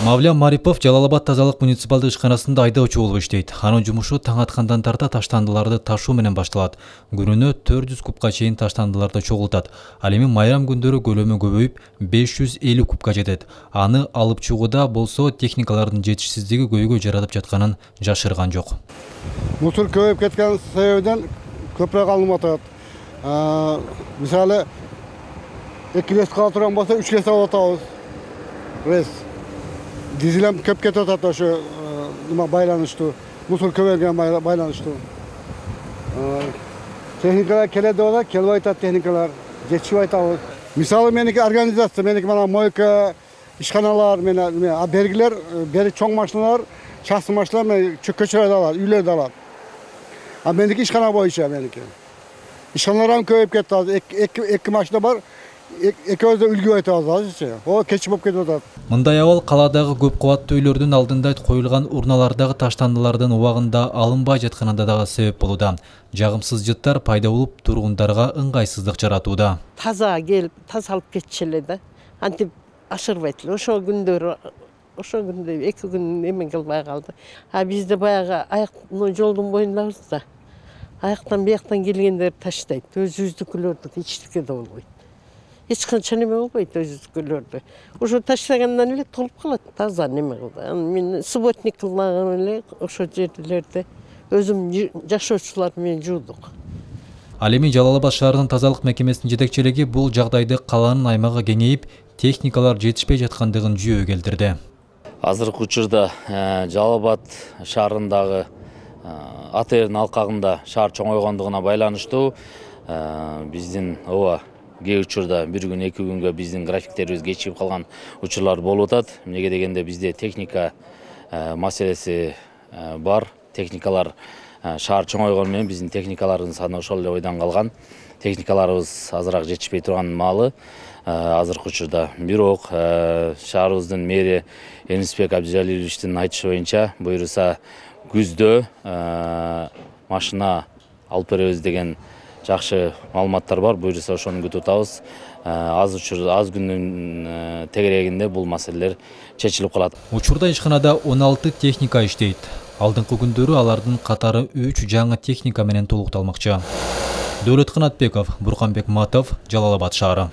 Мавлям Марипов Жалал-Абад тазалык муниципалдык ишканасында айдоочу болуп иштейт. Анын жумушу таң аткандан тарта таштандыларды ташуу менен башталат. Күнүнө 400 кубка чейин таштандыларды чогултат. Ал эми майрам күндөрү көлөмү көбөйүп 550 кубка жетет. Аны алып чыгууда болсо техникалардын жетишсиздиги көйгөй жаратып жатканын жашырган жок. Мусор көбөйүп кеткен себебинен көбүрөөк алынып атат. Мисалы 2 лес кала турган болсо 3 лес алып атабыз. Дизелем көп кетип атат ошо байланыштуу. Мусор көбөйгөнгө байланыштуу. Техникалар келет деп атат, келбей атат техникалар. Жетишпей атабыз. Мисалы меники организация, меники мана мойка, ишканалар, бергилер, бери чоң машиналар, частный машиналар көчөлөрдө алат, үйлөрдө алат. Меники ишкана боюнча меники. Ишканалар көбөйүп кетти азыр. 2 машина бар. Экөөбүз да үлгүп атабыз азырчы. О кеч болуп кетип атат. Мындай абал каладагы көп кабаттуу үйлөрдүн алдында коюлган урналардагы таштандылардын убагында алынбай жатканында дагы себеп болууда. Жагымсыз жыттар пайда болуп тургундарга ыңгайсыздык жаратууда. Таза келип, тазалып кетчү эле да. Антип ашырбайт эле. Ошо күндө 2 күн эме кылбай калды. Бизде баягы жолдун боюндабыз да. Аяктан бияктан келгендер таштайт. Өзүбүздүкүлөрдү эчтеке да болбойт. Эч канча неме болбойт өзүбүздүкүлөрдү. Ошо таштагандан эле толуп калат, таза неме кылды. Мен субботник кылган эле ошо жерлерде өзүм жашоочулар менен жуудук. Ал эми Жалал-Абад шаарынын тазалык мекемесинин жетекчилиги бул жагдайды калаанын аймагы кеңейип, техникалар жетишпей жаткандыгын жүйө келтирди. Азыркы учурда Жалал-Абад шаарындагы АТРдин алкагында шаар чоңойгондугуна байланыштуу биздин кээ учурда 1 күн 2 күнгө биздин графиктерибиз кечигип калган учурлар болуп атат. Эмнеге дегенде бизде техника маселеси бар. Техникалар шаар чоңойгону менен биздин техникалардын саны ошол эле ойдон калган. Техникаларыбыз азыраак жетишпей турган маалы азыркы учурда. Бирок шаарыбыздын мэри Энисбек Абдижалиловичтин айтышы боюнча буюрса күздө машина алып беребиз деген жакшы маалыматтар бар. Буюрса ошону күтүп атабыз. Аз күндүн тегерегинде бул маселелер чечилип калат. Учурда ишканада 16 техника иштейт. Алдыңкы күндөрү алардын катары 3 жаңы техника менен толукталмакчы. Дөөлөт Канатбеков, Бурканбек Матов, Жалал-Абад шаары.